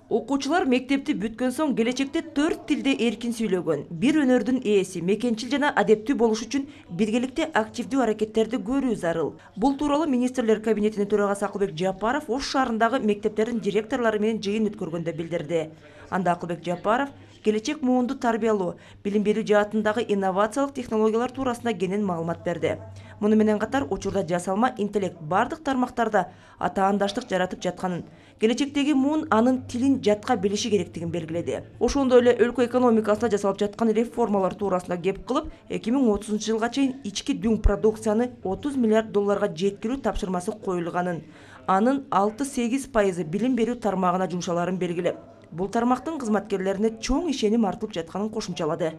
Окуучулар мектепти бүткөн соң келечекте 4 тилде эркин сүйлөгөн, бир өнөрдүн ээси, мекенчил жана адептүү болуш үчүн биргеликте активдүү аракеттерди көрүү зарыл. Бул тууралуу министрлер кабинетинин төрагасы Акылбек Жапаров Ош шаарындагы мектептердин директорлору менен жыйын өткөргөндө билдирди. Анда Акылбек Жапаров келечек муунду тарбиялоо, билим берүү жаатындагы инновациялык технологиялар туурасында кенен маалымат берди. Муну менен катар учурда жасалма интеллект бардык тармактарда атаандаштык жаратып жатканын, келечектеги муун анын тилин жатка билиши керектигин белгиледи. Ошондой эле өлкө экономикасына жасалып жаткан реформалар туурасында кеп кылып, 2030-жылга чейин ички дүң продукцияны 30 миллиард долларга жеткирүү тапшырмасы коюлганын, анын 6-8% билим берүү тармагына жумшаларын белгилеп, бул тармактын кызматкерлерине чоң ишеним артылып жатканын кошумчалады.